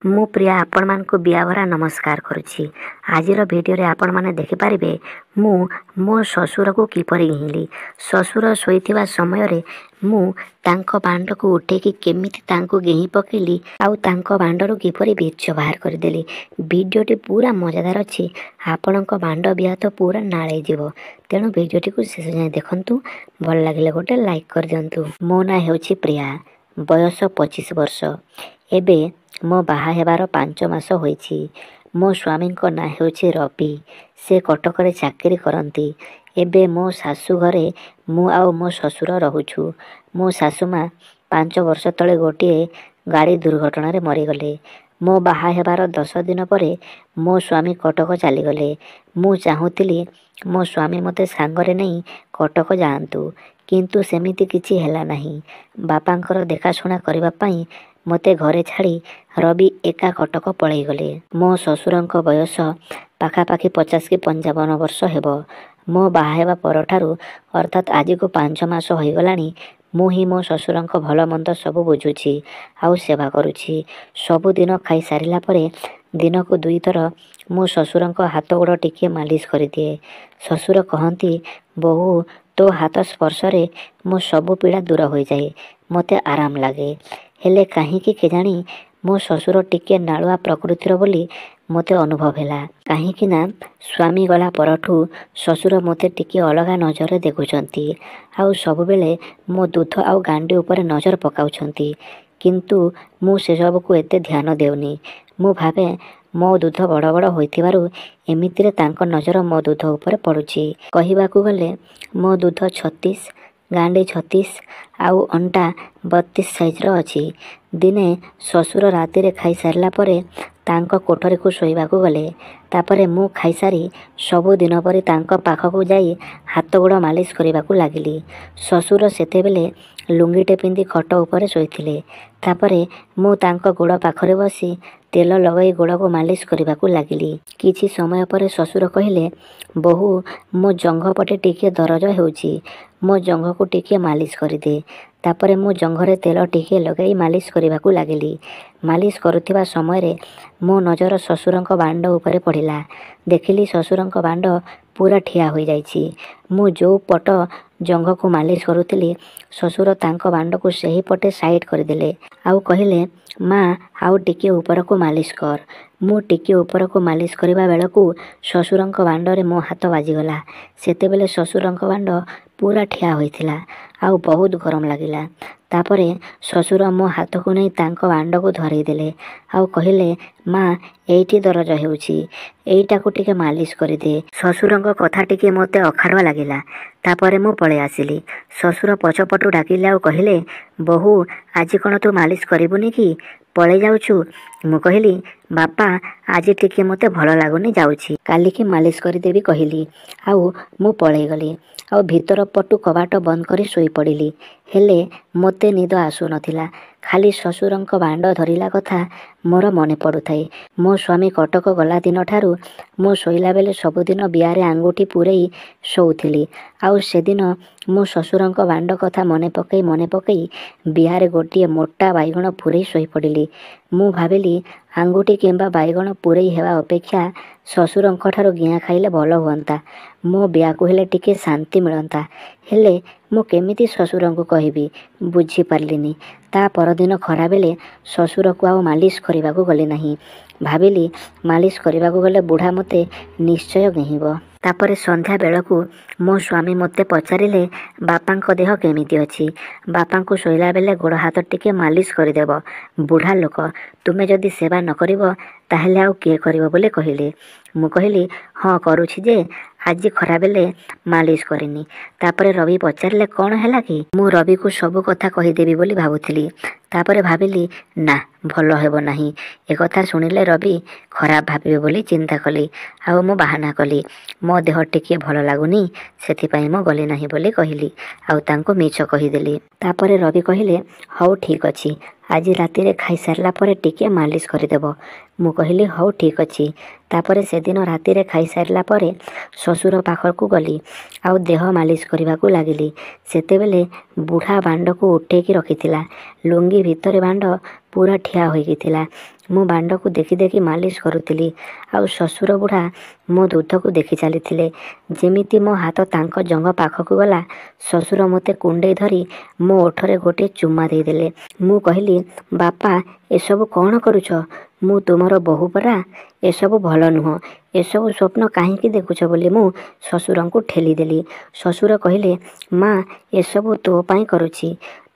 ମୁଁ ପ୍ରିୟା ଆପଣମାନଙ୍କୁ ବିଆଭରା ନମସ୍କାର କରୁଛି। ଆଜିର ଭିଡ଼ିଓରେ ଆପଣମାନେ ଦେଖିପାରିବେ ମୁଁ ମୋ ଶ୍ୱଶୁରକୁ କିପରି ଗେହିଁଲି। ଶ୍ୱଶୁର ଶୋଇଥିବା ସମୟରେ ମୁଁ ତାଙ୍କ ବାଣ୍ଡକୁ ଉଠେଇକି କେମିତି ତାଙ୍କୁ ଗେହିଁ ପକେଇଲି ଆଉ ତାଙ୍କ ବାଣ୍ଡରୁ କିପରି ବୀର୍ଯ୍ୟ ବାହାର କରିଦେଲି। ଭିଡ଼ିଓଟି ପୁରା ମଜାଦାର ଅଛି। ଆପଣଙ୍କ ବାଣ୍ଡ ବିଆ ତ ପୁରା ନାଳେଇ ଯିବ। ତେଣୁ ଭିଡ଼ିଓଟିକୁ ଶେଷ ଯାଏଁ ଦେଖନ୍ତୁ। ଭଲ ଲାଗିଲେ ଗୋଟେ ଲାଇକ୍ କରିଦିଅନ୍ତୁ। ମୋ ନାଁ ହେଉଛି ପ୍ରିୟା, ବୟସ 25 ବର୍ଷ। ଏବେ ମୋ ବାହା ହେବାର 5 ମାସ ହୋଇଛି। ମୋ ସ୍ୱାମୀଙ୍କ ନାଁ ହେଉଛି ରବି। ସେ କଟକରେ ଚାକିରି କରନ୍ତି। ଏବେ ମୋ ଶାଶୁ ଘରେ ମୁଁ ଆଉ ମୋ ଶ୍ୱଶୁର ରହୁଛୁ। ମୋ ଶାଶୁମା 5 ବର୍ଷ ତଳେ ଗୋଟିଏ ଗାଡ଼ି ଦୁର୍ଘଟଣାରେ ମରିଗଲେ। ମୋ ବାହା ହେବାର 10 ଦିନ ପରେ ମୋ ସ୍ୱାମୀ କଟକ ଚାଲିଗଲେ। ମୁଁ ଚାହୁଁଥିଲି ମୋ ସ୍ୱାମୀ ମୋତେ ସାଙ୍ଗରେ ନେଇ କଟକ ଯାଆନ୍ତୁ, କିନ୍ତୁ ସେମିତି କିଛି ହେଲା ନାହିଁ। ବାପାଙ୍କର ଦେଖାଶୁଣା କରିବା ପାଇଁ ମୋତେ ଘରେ ଛାଡ଼ି ରବି ଏକା କଟକ ପଳେଇଗଲେ। ମୋ ଶ୍ୱଶୁରଙ୍କ ବୟସ ପାଖାପାଖି 50 କି 55 ବର୍ଷ ହେବ। ମୋ ବାହା ହେବା ପରଠାରୁ ଅର୍ଥାତ୍ ଆଜିକୁ 5 ମାସ ହୋଇଗଲାଣି, ମୁଁ ହିଁ ମୋ ଶ୍ୱଶୁରଙ୍କ ଭଲ ମନ୍ଦ ସବୁ ବୁଝୁଛି ଆଉ ସେବା କରୁଛି। ସବୁଦିନ ଖାଇସାରିଲା ପରେ ଦିନକୁ 2ଥର ମୁଁ ଶ୍ୱଶୁରଙ୍କ ହାତ ଗୋଡ଼ ଟିକିଏ ମାଲିସ କରିଦିଏ। ଶ୍ୱଶୁର କହନ୍ତି, ବୋହୂ, ତୋ ହାତ ସ୍ପର୍ଶରେ ମୋ ସବୁ ପୀଡ଼ା ଦୂର ହୋଇଯାଏ, ମୋତେ ଆରାମ ଲାଗେ। ହେଲେ କାହିଁକି କେଜାଣି ମୋ ଶ୍ୱଶୁର ଟିକିଏ ନାଳୁଆ ପ୍ରକୃତିର ବୋଲି ମୋତେ ଅନୁଭବ ହେଲା। କାହିଁକି ନା ସ୍ୱାମୀ ଗଲା ପରଠୁ ଶ୍ୱଶୁର ମୋତେ ଟିକିଏ ଅଲଗା ନଜରରେ ଦେଖୁଛନ୍ତି ଆଉ ସବୁବେଳେ ମୋ ଦୁଧ ଆଉ ଗାଣ୍ଡି ଉପରେ ନଜର ପକାଉଛନ୍ତି। କିନ୍ତୁ ମୁଁ ସେସବୁକୁ ଏତେ ଧ୍ୟାନ ଦେଉନି। ମୁଁ ଭାବେ ମୋ ଦୁଧ ବଡ଼ ବଡ଼ ହୋଇଥିବାରୁ ଏମିତିରେ ତାଙ୍କ ନଜର ମୋ ଦୁଧ ଉପରେ ପଡ଼ୁଛି। କହିବାକୁ ଗଲେ ମୋ ଦୁଧ 36, ଗାଣ୍ଡି 36 ଆଉ ଅଣ୍ଟା 32 ସାଇଜର ଅଛି। ଦିନେ ଶ୍ୱଶୁର ରାତିରେ ଖାଇସାରିଲା ପରେ ତାଙ୍କ କୋଠରୀକୁ ଶୋଇବାକୁ ଗଲେ। ତାପରେ ମୁଁ ଖାଇସାରି ସବୁଦିନ ପରି ତାଙ୍କ ପାଖକୁ ଯାଇ ହାତ ଗୋଡ଼ ମାଲିସ କରିବାକୁ ଲାଗିଲି। ଶ୍ୱଶୁର ସେତେବେଳେ ଲୁଙ୍ଗିଟେ ପିନ୍ଧି ଖଟ ଉପରେ ଶୋଇଥିଲେ। ତାପରେ ମୁଁ ତାଙ୍କ ଗୋଡ଼ ପାଖରେ ବସି ତେଲ ଲଗାଇ ଗୋଡ଼କୁ ମାଲିସ କରିବାକୁ ଲାଗିଲି। କିଛି ସମୟ ପରେ ଶ୍ୱଶୁର କହିଲେ, ବୋହୂ, ମୋ ଜଙ୍ଘ ପଟେ ଟିକିଏ ଦରଜ ହେଉଛି, ମୋ ଜଙ୍ଘକୁ ଟିକିଏ ମାଲିସ କରିଦେ। ତାପରେ ମୁଁ ଜଙ୍ଘରେ ତେଲ ଟିକିଏ ଲଗାଇ ମାଲିସ କରିବାକୁ ଲାଗିଲି। ମାଲିସ କରୁଥିବା ସମୟରେ ମୋ ନଜର ଶ୍ୱଶୁରଙ୍କ ବାଣ୍ଡ ଉପରେ ପଡ଼ିଲା। ଦେଖିଲି ଶ୍ୱଶୁରଙ୍କ ବାଣ୍ଡ ପୁରା ଠିଆ ହୋଇଯାଇଛି। ମୁଁ ଯେଉଁ ପଟ ଜଙ୍ଘକୁ ମାଲିସ କରୁଥିଲି, ଶ୍ୱଶୁର ତାଙ୍କ ବାଣ୍ଡକୁ ସେହି ପଟେ ସାଇଡ଼ କରିଦେଲେ ଆଉ କହିଲେ, ମା, ଆଉ ଟିକିଏ ଉପରକୁ ମାଲିସ କର। ମୁଁ ଟିକିଏ ଉପରକୁ ମାଲିସ କରିବା ବେଳକୁ ଶ୍ୱଶୁରଙ୍କ ବାଣ୍ଡରେ ମୋ ହାତ ବାଜିଗଲା। ସେତେବେଳେ ଶ୍ୱଶୁରଙ୍କ ବାଣ୍ଡ ପୁରା ଠିଆ ହୋଇଥିଲା ଆଉ ବହୁତ ଗରମ ଲାଗିଲା। ତାପରେ ଶ୍ୱଶୁର ମୋ ହାତକୁ ନେଇ ତାଙ୍କ ବାଣ୍ଡକୁ ଧରେଇ ଦେଲେ ଆଉ କହିଲେ, ମା, ଏଇଠି ଦରଜ ହେଉଛି, ଏଇଟାକୁ ଟିକେ ମାଲିସ କରିଦେ। ଶ୍ୱଶୁରଙ୍କ କଥା ଟିକେ ମୋତେ ଅଖାଡ଼ୁଆ ଲାଗିଲା। ତାପରେ ମୁଁ ପଳେଇ ଆସିଲି। ଶ୍ୱଶୁର ପଛପଟୁ ଡାକିଲେ ଆଉ କହିଲେ, ବୋହୂ, ଆଜି କ'ଣ ତୁ ମାଲିସ କରିବୁନି କି, ପଳେଇ ଯାଉଛୁ? ମୁଁ କହିଲି, ବାପା, ଆଜି ଟିକେ ମୋତେ ଭଲ ଲାଗୁନି, ଯାଉଛି, କାଲିକି ମାଲିସ କରିଦେବି କହିଲି ଆଉ ମୁଁ ପଳେଇଗଲି ଆଉ ଭିତର ପଟୁ କବାଟ ବନ୍ଦ କରି ଶୋଇପଡ଼ିଲି। ହେଲେ ମୋତେ ନିଦ ଆସୁନଥିଲା। ଖାଲି ଶ୍ୱଶୁରଙ୍କ ବାଣ୍ଡ ଧରିଲା କଥା ମୋର ମନେ ପଡ଼ୁଥାଏ। ମୋ ସ୍ୱାମୀ କଟକ ଗଲା ଦିନଠାରୁ ମୁଁ ଶୋଇଲା ବେଳେ ସବୁଦିନ ବିଆରେ ଆଙ୍ଗୁଠି ପୂରେଇ ଶୋଉଥିଲି। ଆଉ ସେଦିନ ମୁଁ ଶ୍ୱଶୁରଙ୍କ ବାଣ୍ଡ କଥା ମନେ ପକେଇ ମନେ ପକେଇ ବିଆରେ ଗୋଟିଏ ମୋଟା ବାଇଗଣ ପୂରେଇ ଶୋଇପଡ଼ିଲି। ମୁଁ ଭାବିଲି ଆଙ୍ଗୁଠି କିମ୍ବା ବାଇଗଣ ପୂରେଇ ହେବା ଅପେକ୍ଷା ଶ୍ୱଶୁରଙ୍କ ଠାରୁ ଗିଆଁ ଖାଇଲେ ଭଲ ହୁଅନ୍ତା, ମୋ ବିଆକୁ ହେଲେ ଟିକେ ଶାନ୍ତି ମିଳନ୍ତା। ହେଲେ ମୁଁ କେମିତି ଶ୍ୱଶୁରଙ୍କୁ କହିବି ବୁଝିପାରିଲିନି। ତା ପରଦିନ ଖରାବେଳେ ଶ୍ୱଶୁରକୁ ଆଉ ମାଲିସ କରିବାକୁ ଗଲି ନାହିଁ। ଭାବିଲି ମାଲିସ କରିବାକୁ ଗଲେ ବୁଢ଼ା ମୋତେ ନିଶ୍ଚୟ ଗେହିଁବ। ତାପରେ ସନ୍ଧ୍ୟା ବେଳକୁ ମୋ ସ୍ୱାମୀ ମୋତେ ପଚାରିଲେ, ବାପାଙ୍କ ଦେହ କେମିତି ଅଛି? ବାପାଙ୍କୁ ଶୋଇଲା ବେଳେ ଗୋଡ଼ ହାତ ଟିକେ ମାଲିସ କରିଦେବ, ବୁଢ଼ା ଲୋକ, ତୁମେ ଯଦି ସେବା ନ କରିବ ତାହେଲେ ଆଉ କିଏ କରିବ ବୋଲି କହିଲେ। ମୁଁ କହିଲି, ହଁ କରୁଛି ଯେ, ଆଜି ଖରାବେଳେ ମାଲିସ କରିନି। ତାପରେ ରବି ପଚାରିଲେ, କ'ଣ ହେଲା କି? ମୁଁ ରବିକୁ ସବୁ କଥା କହିଦେବି ବୋଲି ଭାବୁଥିଲି। ତାପରେ ଭାବିଲି ନା, ଭଲ ହେବ ନାହିଁ, ଏକଥା ଶୁଣିଲେ ରବି ଖରାପ ଭାବିବେ ବୋଲି ଚିନ୍ତା କଲି ଆଉ ମୁଁ ବାହାନା କଲି, ମୋ ଦେହ ଟିକିଏ ଭଲ ଲାଗୁନି, ସେଥିପାଇଁ ମୁଁ ଗଲି ନାହିଁ ବୋଲି କହିଲି ଆଉ ତାଙ୍କୁ ମିଛ କହିଦେଲି। ତାପରେ ରବି କହିଲେ, ହଉ ଠିକ୍ ଅଛି, ଆଜି ରାତିରେ ଖାଇସାରିଲା ପରେ ଟିକିଏ ମାଲିସ କରିଦେବ। ମୁଁ କହିଲି, ହଉ ଠିକ୍ ଅଛି। ତାପରେ ସେଦିନ ରାତିରେ ଖାଇସାରିଲା ପରେ ଶ୍ୱଶୁର ପାଖକୁ ଗଲି ଆଉ ଦେହ ମାଲିସ କରିବାକୁ ଲାଗିଲି। ସେତେବେଳେ ବୁଢ଼ା ବାଣ୍ଡକୁ ଉଠେଇକି ରଖିଥିଲା, ଲୁଙ୍ଗି ଭିତରେ ବାଣ୍ଡ ପୁରା ଠିଆ ହୋଇକି ଥିଲା। ମୁଁ ବାଣ୍ଡକୁ ଦେଖି ଦେଖି ମାଲିସ କରୁଥିଲି ଆଉ ଶ୍ୱଶୁର ବୁଢ଼ା ମୋ ଦୁଧକୁ ଦେଖି ଚାଲିଥିଲେ। ଯେମିତି ମୋ ହାତ ତାଙ୍କ ଜଙ୍ଘ ପାଖକୁ ଗଲା, ଶ୍ୱଶୁର ମୋତେ କୁଣ୍ଡେଇ ଧରି ମୋ ଓଠରେ ଗୋଟିଏ ଚୁମା ଦେଇଦେଲେ। ମୁଁ କହିଲି, ବାପା, ଏସବୁ କ'ଣ କରୁଛ? ମୁଁ ତୁମର ବୋହୂ ପରା। ଏସବୁ ଭଲ ନୁହଁ। ଏସବୁ ସ୍ୱପ୍ନ କାହିଁକି ଦେଖୁଛ ବୋଲି ମୁଁ ଶ୍ୱଶୁରଙ୍କୁ ଠେଲିଦେଲି। ଶ୍ୱଶୁର କହିଲେ, ମା, ଏସବୁ ତୋ ପାଇଁ କରୁଛି।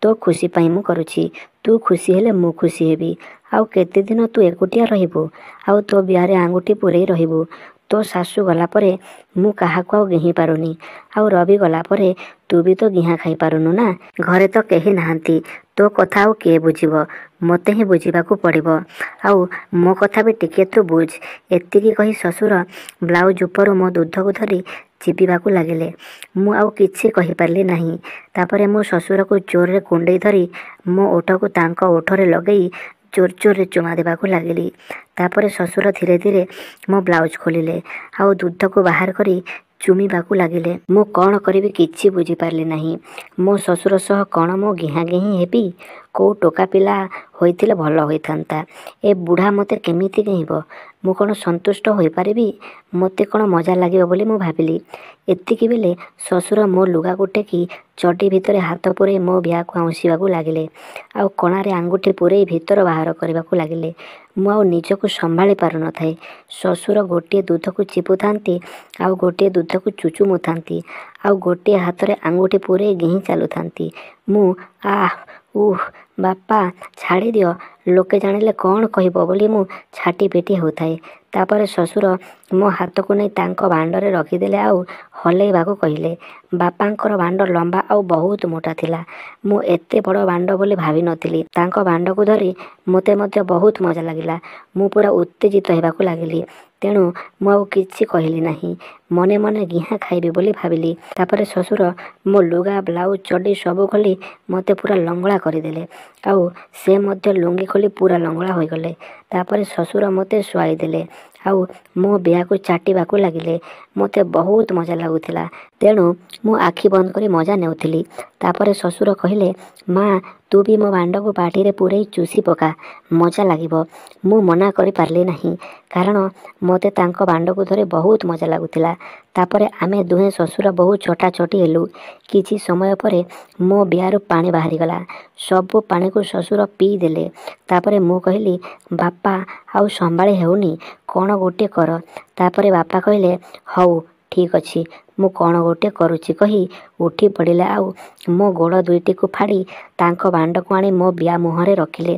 ତୋ ଖୁସି ପାଇଁ ମୁଁ କରୁଛି। ତୁ ଖୁସି ହେଲେ ମୁଁ ଖୁସି ହେବି। ଆଉ କେତେଦିନ ତୁ ଏକୁଟିଆ ରହିବୁ ଆଉ ତୋ ବିଆରେ ଆଙ୍ଗୁଠି ପୂରେଇ ରହିବୁ? ତୋ ଶାଶୁ ଗଲା ପରେ ମୁଁ କାହାକୁ ଆଉ ଗେହିଁ ପାରୁନି। ଆଉ ରବି ଗଲା ପରେ ତୁ ବି ତ ଗିହା ଖାଇପାରୁନୁ ନା। ଘରେ ତ କେହି ନାହାନ୍ତି। ତୋ କଥା ଆଉ କିଏ ବୁଝିବ? ମୋତେ ହିଁ ବୁଝିବାକୁ ପଡ଼ିବ। ଆଉ ମୋ କଥା ବି ଟିକିଏ ତୁ ବୁଝ। ଏତିକି କହି ଶ୍ୱଶୁର ବ୍ଲାଉଜ ଉପରୁ ମୋ ଦୁଧକୁ ଧରି ଚିପିବାକୁ ଲାଗିଲେ। ମୁଁ ଆଉ କିଛି କହିପାରିଲି ନାହିଁ। ତାପରେ ମୁଁ ଶ୍ୱଶୁରକୁ ଜୋରରେ କୁଣ୍ଡେଇ ଧରି ମୋ ଓଠକୁ ତାଙ୍କ ଓଠରେ ଲଗେଇ ଜୋର ଜୋରରେ ଚୁମା ଦେବାକୁ ଲାଗିଲି। ତାପରେ ଶ୍ୱଶୁର ଧୀରେ ଧୀରେ ମୋ ବ୍ଲାଉଜ ଖୋଲିଲେ ଆଉ ଦୁଧକୁ ବାହାର କରି ଚୁମିବାକୁ ଲାଗିଲେ। ମୁଁ କ'ଣ କରିବି କିଛି ବୁଝିପାରିଲି ନାହିଁ। ମୋ ଶ୍ୱଶୁର ସହ କ'ଣ ମୁଁ ଗିହା ଗେହିଁ ହେବି? କୋଉ ଟୋକା ପିଲା ହୋଇଥିଲେ ଭଲ ହୋଇଥାନ୍ତା। ଏ ବୁଢ଼ା ମୋତେ କେମିତି ଗେହିଁବ? ମୁଁ କ'ଣ ସନ୍ତୁଷ୍ଟ ହୋଇପାରିବି? ମୋତେ କ'ଣ ମଜା ଲାଗିବ ବୋଲି ମୁଁ ଭାବିଲି। ଏତିକି ବେଳେ ଶ୍ୱଶୁର ମୋ ଲୁଗାକୁ ଟେକି ଚଡ଼ି ଭିତରେ ହାତ ପୂରେଇ ମୋ ବିଆକୁ ଆଉଁସିବାକୁ ଲାଗିଲେ ଆଉ କଣାରେ ଆଙ୍ଗୁଠି ପୂରେଇ ଭିତର ବାହାର କରିବାକୁ ଲାଗିଲେ। ମୁଁ ଆଉ ନିଜକୁ ସମ୍ଭାଳି ପାରୁନଥାଏ। ଶ୍ୱଶୁର ଗୋଟିଏ ଦୁଧକୁ ଚିପୁଥାନ୍ତି ଆଉ ଗୋଟିଏ ଦୁଧକୁ ଚୁଚୁମୁଥାନ୍ତି ଆଉ ଗୋଟିଏ ହାତରେ ଆଙ୍ଗୁଠି ପୂରେଇ ଗେହିଁ ଚାଲୁଥାନ୍ତି। ମୁଁ ଆଃ ଉଃ, ବାପା ଛାଡ଼ିଦିଅ, ଲୋକେ ଜାଣିଲେ କ'ଣ କହିବ ବୋଲି ମୁଁ ଛାଟିପିଟି ହେଉଥାଏ। ତାପରେ ଶ୍ୱଶୁର ମୋ ହାତକୁ ନେଇ ତାଙ୍କ ବାଣ୍ଡରେ ରଖିଦେଲେ ଆଉ ହଲେଇବାକୁ କହିଲେ। ବାପାଙ୍କର ବାଣ୍ଡ ଲମ୍ବା ଆଉ ବହୁତ ମୋଟା ଥିଲା। ମୁଁ ଏତେ ବଡ଼ ବାଣ୍ଡ ବୋଲି ଭାବିନଥିଲି। ତାଙ୍କ ବାଣ୍ଡକୁ ଧରି ମୋତେ ମଧ୍ୟ ବହୁତ ମଜା ଲାଗିଲା। ମୁଁ ପୁରା ଉତ୍ତେଜିତ ହେବାକୁ ଲାଗିଲି। ତେଣୁ ମୁଁ ଆଉ କିଛି କହିଲି ନାହିଁ। ମନେ ମନେ ଗିହା ଖାଇବି ବୋଲି ଭାବିଲି। ତାପରେ ଶ୍ୱଶୁର ମୋ ଲୁଗା, ବ୍ଲାଉଜ, ଚଡ଼ି ସବୁ ଖୋଲି ମୋତେ ପୁରା ଲଙ୍ଗଳା କରିଦେଲେ ଆଉ ସେ ମଧ୍ୟ ଲୁଙ୍ଗି ଖୋଲି ପୁରା ଲଙ୍ଗଳା ହୋଇଗଲେ। ତାପରେ ଶ୍ୱଶୁର ମୋତେ ଶୁଆଇଦେଲେ ଆଉ ମୋ ବିଆକୁ ଚାଟିବାକୁ ଲାଗିଲେ। ମୋତେ ବହୁତ ମଜା ଲାଗୁଥିଲା। ତେଣୁ ମୁଁ ଆଖି ବନ୍ଦ କରି ମଜା ନେଉଥିଲି। ତାପରେ ଶ୍ୱଶୁର କହିଲେ, ମା, ତୁ ବି ମୋ ବାଣ୍ଡକୁ ପାଟିରେ ପୂରେଇ ଚୁସି ପକା, ମଜା ଲାଗିବ। ମୁଁ ମନା କରିପାରିଲି ନାହିଁ, କାରଣ ମୋତେ ତାଙ୍କ ବାଣ୍ଡକୁ ଧରି ବହୁତ ମଜା ଲାଗୁଥିଲା। ତାପରେ ଆମେ ଦୁହେଁ ଶ୍ୱଶୁର ବୋହୂ ଚଟାଚଟି ହେଲୁ। କିଛି ସମୟ ପରେ ମୋ ବିଆରୁ ପାଣି ବାହାରିଗଲା। ସବୁ ପାଣିକୁ ଶ୍ୱଶୁର ପିଇଦେଲେ। ତାପରେ ମୁଁ କହିଲି, ବାପା, ଆଉ ସମ୍ଭାଳି ହେଉନି, କ'ଣ ଗୋଟିଏ କର। ତାପରେ ବାପା କହିଲେ, ହଉ ଠିକ୍ ଅଛି, ମୁଁ କ'ଣ ଗୋଟିଏ କରୁଛି କହି ଉଠି ପଡ଼ିଲେ ଆଉ ମୋ ଗୋଡ଼ ଦୁଇଟିକୁ ଫାଡ଼ି ତାଙ୍କ ବାଣ୍ଡକୁ ଆଣି ମୋ ବିଆ ମୁହଁରେ ରଖିଲେ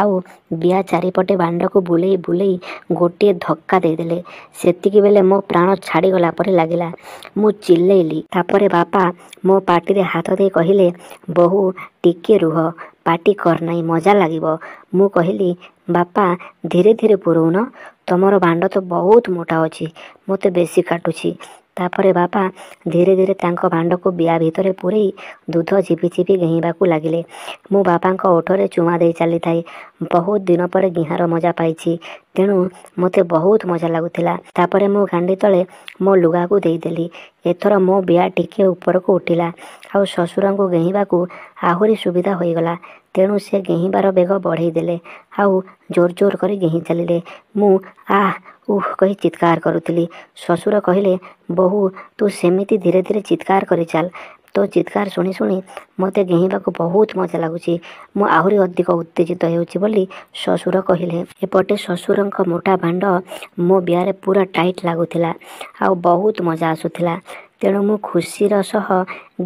ଆଉ ବିଆ ଚାରିପଟେ ବାଣ୍ଡକୁ ବୁଲେଇ ବୁଲେଇ ଗୋଟିଏ ଧକ୍କା ଦେଇଦେଲେ। ସେତିକି ବେଳେ ମୋ ପ୍ରାଣ ଛାଡ଼ିଗଲା ପରି ଲାଗିଲା। ମୁଁ ଚିଲ୍ଲେଇଲି। ତାପରେ ବାପା ମୋ ପାଟିରେ ହାତ ଦେଇ କହିଲେ, ବୋହୂ, ଟିକିଏ ରୁହ, ପାଟି କରନାହିଁ, ମଜା ଲାଗିବ। ମୁଁ କହିଲି, ବାପା, ଧୀରେ ଧୀରେ ପୁରଉନ, ତମର ବାଣ୍ଡ ତ ବହୁତ ମୋଟା ଅଛି, ମୋତେ ବେଶୀ କାଟୁଛି। ତାପରେ ବାପା ଧୀରେ ଧୀରେ ତାଙ୍କ ବାଣ୍ଡକୁ ବିଆ ଭିତରେ ପୂରେଇ ଦୁଧ ଚିପି ଚିପି ଗେହିଁବାକୁ ଲାଗିଲେ। ମୁଁ ବାପାଙ୍କ ଓଠରେ ଚୁମା ଦେଇ ଚାଲିଥାଏ। ବହୁତ ଦିନ ପରେ ଗିହାର ମଜା ପାଇଛି, ତେଣୁ ମୋତେ ବହୁତ ମଜା ଲାଗୁଥିଲା। ତାପରେ ମୁଁ ଗାଣ୍ଡି ତଳେ ମୋ ଲୁଗାକୁ ଦେଇଦେଲି। ଏଥର ମୋ ବିଆ ଟିକିଏ ଉପରକୁ ଉଠିଲା ଆଉ ଶ୍ୱଶୁରଙ୍କୁ ଗେହିଁବାକୁ ଆହୁରି ସୁବିଧା ହୋଇଗଲା। ତେଣୁ ସେ ଗେହିଁବାର ବେଗ ବଢ଼େଇ ଦେଲେ ଆଉ ଜୋର ଜୋର କରି ଗେହିଁ ଚାଲିଲେ। ମୁଁ ଆଃ ଉଃ କହି ଚିତ୍କାର କରୁଥିଲି। ଶ୍ୱଶୁର କହିଲେ, ବୋହୂ, ତୁ ସେମିତି ଧୀରେ ଧୀରେ ଚିତ୍କାର କରି ଚାଲ। ତୋ ଚିତ୍କାର ଶୁଣି ଶୁଣି ମୋତେ ଗେହିଁବାକୁ ବହୁତ ମଜା ଲାଗୁଛି। ମୁଁ ଆହୁରି ଅଧିକ ଉତ୍ତେଜିତ ହେଉଛି ବୋଲି ଶ୍ୱଶୁର କହିଲେ। ଏପଟେ ଶ୍ୱଶୁରଙ୍କ ମୋଟା ବାଣ୍ଡ ମୋ ବିଆରେ ପୁରା ଟାଇଟ୍ ଲାଗୁଥିଲା ଆଉ ବହୁତ ମଜା ଆସୁଥିଲା। ତେଣୁ ମୁଁ ଖୁସିର ସହ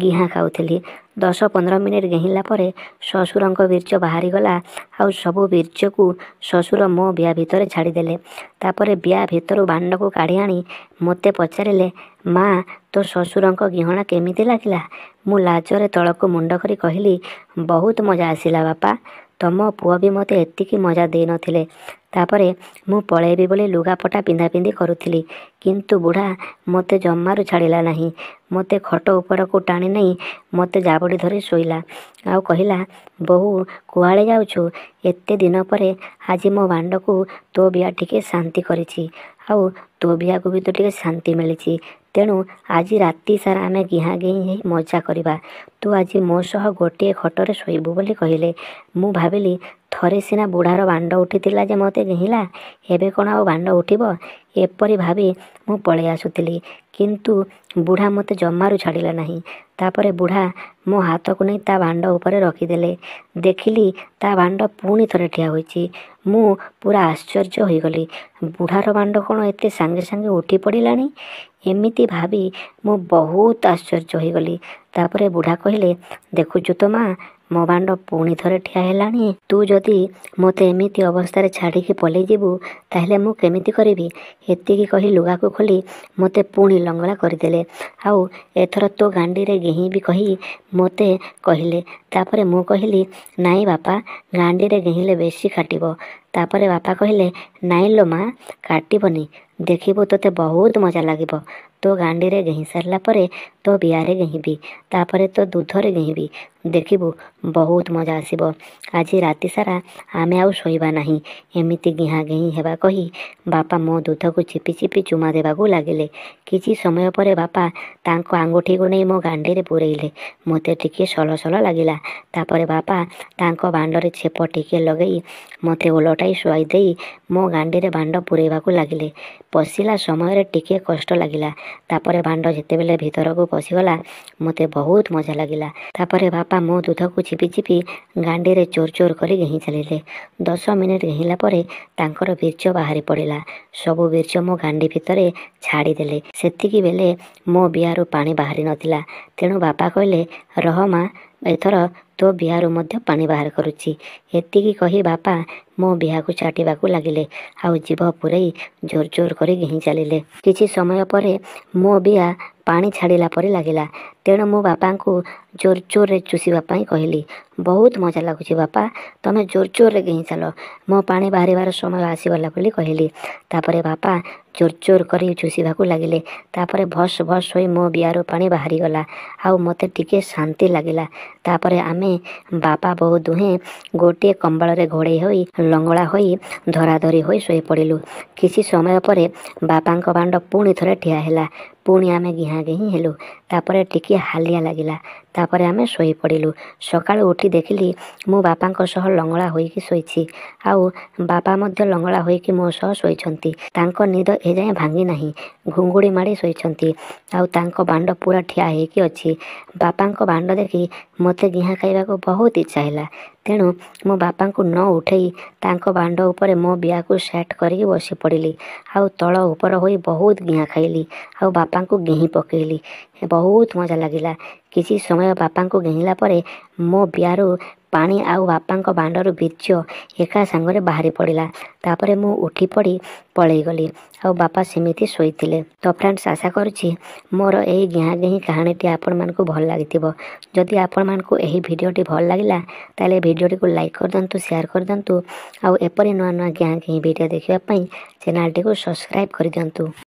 ଗିହା ଖାଉଥିଲି। 10-15 ମିନିଟ୍ ଗେହିଁଲା ପରେ ଶ୍ୱଶୁରଙ୍କ ବୀର୍ଯ୍ୟ ବାହାରିଗଲା ଆଉ ସବୁ ବୀର୍ଯ୍ୟକୁ ଶ୍ୱଶୁର ମୋ ବିଆ ଭିତରେ ଛାଡ଼ିଦେଲେ। ତାପରେ ବିଆ ଭିତରୁ ବାଣ୍ଡକୁ କାଢ଼ି ଆଣି ମୋତେ ପଚାରିଲେ, ମା, ତୋ ଶ୍ୱଶୁରଙ୍କ ଗିହଣା କେମିତି ଲାଗିଲା? ମୁଁ ଲାଜରେ ତଳକୁ ମୁଣ୍ଡ କରି କହିଲି, ବହୁତ ମଜା ଆସିଲା ବାପା, ତମ ପୁଅ ବି ମୋତେ ଏତିକି ମଜା ଦେଇନଥିଲେ। ତାପରେ ମୁଁ ପଳେଇବି ବୋଲି ଲୁଗାପଟା ପିନ୍ଧାପିନ୍ଧି କରୁଥିଲି, କିନ୍ତୁ ବୁଢ଼ା ମୋତେ ଜମାରୁ ଛାଡ଼ିଲା ନାହିଁ। ମୋତେ ଖଟ ଉପରକୁ ଟାଣି ନେଇ ମୋତେ ଜାବୁଡ଼ି ଧରି ଶୋଇଲା ଆଉ କହିଲା, ବୋହୂ, କୁଆଡ଼େ ଯାଉଛୁ? ଏତେ ଦିନ ପରେ ଆଜି ମୋ ବାଣ୍ଡକୁ ତୋ ବିଆ ଟିକେ ଶାନ୍ତି କରିଛି ଆଉ ତୋ ବିଆକୁ ବି ତ ଟିକେ ଶାନ୍ତି ମିଳିଛି। ତେଣୁ ଆଜି ରାତି ସାରା ଆମେ ଗିହା ଗେହିଁ ହେଇ ମଜା କରିବା। ତୁ ଆଜି ମୋ ସହ ଗୋଟିଏ ଖଟରେ ଶୋଇବୁ ବୋଲି କହିଲେ। ମୁଁ ଭାବିଲି, ଥରେ ସିନା ବୁଢ଼ାର ବାଣ୍ଡ ଉଠିଥିଲା ଯେ ମୋତେ ଗେହିଁଲା, ଏବେ କ'ଣ ଆଉ ବାଣ୍ଡ ଉଠିବ? ଏପରି ଭାବି ମୁଁ ପଳେଇ ଆସୁଥିଲି, କିନ୍ତୁ ବୁଢ଼ା ମୋତେ ଜମାରୁ ଛାଡ଼ିଲା ନାହିଁ। ତାପରେ ବୁଢ଼ା ମୋ ହାତକୁ ନେଇ ତା ବାଣ୍ଡ ଉପରେ ରଖିଦେଲେ। ଦେଖିଲି ତା ବାଣ୍ଡ ପୁଣି ଥରେ ଠିଆ ହୋଇଛି। ମୁଁ ପୁରା ଆଶ୍ଚର୍ଯ୍ୟ ହୋଇଗଲି। ବୁଢ଼ାର ବାଣ୍ଡ କ'ଣ ଏତେ ସାଙ୍ଗେ ସାଙ୍ଗେ ଉଠି ପଡ଼ିଲାଣି? ଏମିତି ଭାବି ମୁଁ ବହୁତ ଆଶ୍ଚର୍ଯ୍ୟ ହୋଇଗଲି। ତାପରେ ବୁଢ଼ା କହିଲେ, ଦେଖୁଛୁ ତ ମା, ମୋ ବାଣ୍ଡ ପୁଣି ଥରେ ଠିଆ ହେଲାଣି। ତୁ ଯଦି ମୋତେ ଏମିତି ଅବସ୍ଥାରେ ଛାଡ଼ିକି ପଲେଇଯିବୁ, ତାହେଲେ ମୁଁ କେମିତି କରିବି? ଏତିକି କହି ଲୁଗାକୁ ଖୋଲି ମୋତେ ପୁଣି ଲଙ୍ଗଳା କରିଦେଲେ। ଆଉ ଏଥର ତୋ ଗାଣ୍ଡିରେ ଗେହିଁବି କହି ମୋତେ କହିଲେ। ତାପରେ ମୁଁ କହିଲି, ନାଇଁ ବାପା, ଗାଣ୍ଡିରେ ଗେହିଁଲେ ବେଶୀ କାଟିବ। ତାପରେ ବାପା କହିଲେ, ନାଇଁ ଲୋ ମା, କାଟିବନି, ଦେଖିବୁ ତୋତେ ବହୁତ ମଜା ଲାଗିବ। ତୋ ଗାଣ୍ଡିରେ ଗେହିଁ ସାରିଲା ପରେ ତୋ ବିଆରେ ଗେହିଁବି, ତାପରେ ତୋ ଦୁଧରେ ଗେହିଁବି, ଦେଖିବୁ ବହୁତ ମଜା ଆସିବ। ଆଜି ରାତି ସାରା ଆମେ ଆଉ ଶୋଇବା ନାହିଁ, ଏମିତି ଗିହା ଗେହିଁ ହେବା କହି ବାପା ମୋ ଦୁଧକୁ ଚିପି ଚିପି ଚୁମା ଦେବାକୁ ଲାଗିଲେ। କିଛି ସମୟ ପରେ ବାପା ତାଙ୍କ ଆଙ୍ଗୁଠିକୁ ନେଇ ମୋ ଗାଣ୍ଡିରେ ପୂରେଇଲେ। ମୋତେ ଟିକିଏ ସଲ ସଲ ଲାଗିଲା। ତାପରେ ବାପା ତାଙ୍କ ବାଣ୍ଡରେ ଛେପ ଟିକିଏ ଲଗେଇ ମୋତେ ଓଲଟାଇ ଶୁଆଇ ଦେଇ ମୋ ଗାଣ୍ଡିରେ ବାଣ୍ଡ ପୂରେଇବାକୁ ଲାଗିଲେ। ପଶିଲା ସମୟରେ ଟିକିଏ କଷ୍ଟ ଲାଗିଲା। ତାପରେ ବାଣ୍ଡ ଯେତେବେଳେ ଭିତରକୁ ପଶିଗଲା, ମୋତେ ବହୁତ ମଜା ଲାଗିଲା। ତାପରେ ବାପା ମୋ ଦୁଧକୁ ଚିପି ଚିପି ଗାଣ୍ଡିରେ ଜୋର ଜୋର କରି ଗେହିଁ ଚାଲିଲେ। 10 ମିନିଟ୍ ଗେହିଁଲା ପରେ ତାଙ୍କର ବୀର୍ଯ୍ୟ ବାହାରି ପଡ଼ିଲା। ସବୁ ବୀର୍ଯ୍ୟ ମୋ ଗାଣ୍ଡି ଭିତରେ ଛାଡ଼ିଦେଲେ। ସେତିକି ବେଳେ ମୋ ବିଆରୁ ପାଣି ବାହାରି ନଥିଲା। ତେଣୁ ବାପା କହିଲେ, ରହ ମା, ଏଥର ତୋ ବିଆରୁ ମଧ୍ୟ ପାଣି ବାହାର କରୁଛି। ଏତିକି କହି ବାପା ମୋ ବିଆକୁ ଚାଟିବାକୁ ଲାଗିଲେ ଆଉ ଜିଭ ପୂରେଇ ଜୋର ଜୋର କରି ଗେହିଁ ଚାଲିଲେ। କିଛି ସମୟ ପରେ ମୋ ବିଆ ପାଣି ଛାଡ଼ିଲା ପରି ଲାଗିଲା। ତେଣୁ ମୁଁ ବାପାଙ୍କୁ ଜୋର ଜୋରରେ ଚୁଷିବା ପାଇଁ କହିଲି। ବହୁତ ମଜା ଲାଗୁଛି ବାପା, ତମେ ଜୋର ଜୋରରେ ଗେହିଁ ଚାଲ, ମୋ ପାଣି ବାହାରିବାର ସମୟ ଆସିଗଲା ବୋଲି କହିଲି। ତାପରେ ବାପା ଜୋର ଜୋର କରି ଚୁଷିବାକୁ ଲାଗିଲେ। ତାପରେ ଭସ୍ ଭସ୍ ହୋଇ ମୋ ବିଆରୁ ପାଣି ବାହାରିଗଲା ଆଉ ମୋତେ ଟିକିଏ ଶାନ୍ତି ଲାଗିଲା। ତାପରେ ଆମେ ବାପା ବୋଉ ଦୁହେଁ ଗୋଟିଏ କମ୍ବଳରେ ଘୋଡ଼େଇ ହୋଇ, ଲଙ୍ଗଳା ହୋଇ, ଧରାଧରି ହୋଇ ଶୋଇପଡ଼ିଲୁ। କିଛି ସମୟ ପରେ ବାପାଙ୍କ ବାଣ୍ଡ ପୁଣି ଥରେ ଠିଆ ହେଲା। ପୁଣି ଆମେ ଗିହା ଗେହିଁ ହେଲୁ। ତାପରେ ଟିକିଏ ହାଲିଆ ଲାଗିଲା। ତାପରେ ଆମେ ଶୋଇପଡ଼ିଲୁ। ସକାଳୁ ଉଠି ଦେଖିଲି ମୁଁ ବାପାଙ୍କ ସହ ଲଙ୍ଗଳା ହୋଇକି ଶୋଇଛି ଆଉ ବାପା ମଧ୍ୟ ଲଙ୍ଗଳା ହୋଇକି ମୋ ସହ ଶୋଇଛନ୍ତି। ତାଙ୍କ ନିଦ ଏଯାଏଁ ଭାଙ୍ଗି ନାହିଁ, ଘୁଙ୍ଗୁଡ଼ି ମାଡ଼ି ଶୋଇଛନ୍ତି ଆଉ ତାଙ୍କ ବାଣ୍ଡ ପୁରା ଠିଆ ହେଇକି ଅଛି। ବାପାଙ୍କ ବାଣ୍ଡ ଦେଖି ମୋତେ ଗିହା ଖାଇବାକୁ ବହୁତ ଇଚ୍ଛା ହେଲା। ତେଣୁ ମୁଁ ବାପାଙ୍କୁ ନ ଉଠେଇ ତାଙ୍କ ବାଣ୍ଡ ଉପରେ ମୋ ବିଆକୁ ସେଟ୍ କରିକି ବସି ପଡ଼ିଲି ଆଉ ତଳ ଉପର ହୋଇ ବହୁତ ଗିହା ଖାଇଲି ଆଉ ବାପାଙ୍କୁ ଗେହିଁ ପକେଇଲି। ବହୁତ ମଜା ଲାଗିଲା। କିଛି ସମୟ ବାପାଙ୍କୁ ଗେହିଁଲା ପରେ ମୋ ବିଆରୁ ପାଣି ଆଉ ବାପାଙ୍କ ବାଣ୍ଡରୁ ବୀର୍ଯ୍ୟ ଏକା ସାଙ୍ଗରେ ବାହାରି ପଡ଼ିଲା। ତାପରେ ମୁଁ ଉଠି ପଡ଼ି ପଳେଇଗଲି ଆଉ ବାପା ସେମିତି ଶୋଇଥିଲେ। ତ ଫ୍ରେଣ୍ଡସ୍, ଆଶା କରୁଛି ମୋର ଏହି ଗିହା ଗେହିଁ କାହାଣୀଟି ଆପଣମାନଙ୍କୁ ଭଲ ଲାଗିଥିବ। ଯଦି ଆପଣମାନଙ୍କୁ ଏହି ଭିଡ଼ିଓଟି ଭଲ ଲାଗିଲା, ତାହେଲେ ଭିଡ଼ିଓଟିକୁ ଲାଇକ୍ କରିଦିଅନ୍ତୁ, ସେୟାର କରିଦିଅନ୍ତୁ ଆଉ ଏପରି ନୂଆ ନୂଆ ଗିହା ଗେହିଁ ଭିଡ଼ିଓ ଦେଖିବା ପାଇଁ ଚ୍ୟାନେଲଟିକୁ ସବସ୍କ୍ରାଇବ୍ କରିଦିଅନ୍ତୁ।